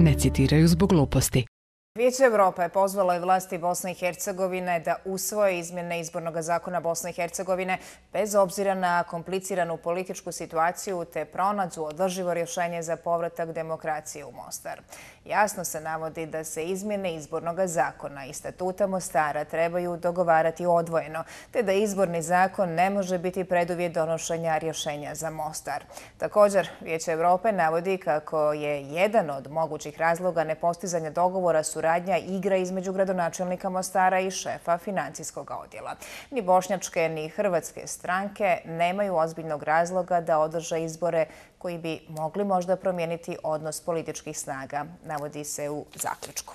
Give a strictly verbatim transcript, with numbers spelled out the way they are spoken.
ne citiraju zbog gluposti. Vijeće Evrope pozvalo je vlasti Bosne i Hercegovine da usvoje izmjene izbornog zakona Bosne i Hercegovine bez obzira na kompliciranu političku situaciju te pronađu održivo rješenje za povratak demokracije u Mostar. Jasno se navodi da se izmjene izbornog zakona i statuta Mostara trebaju dogovarati odvojeno, te da izborni zakon ne može biti preduvjet donošenja rješenja za Mostar. Također, Vijeće Evrope navodi kako je jedan od mogućih razloga nepostizanja dogovora suradnja igra između gradonačelnika Mostara i šefa financijskog odjela. Ni bošnjačke ni hrvatske stranke nemaju ozbiljnog razloga da održe izbore koji bi mogli možda promijeniti odnos političkih snaga, navodi se u zaključku.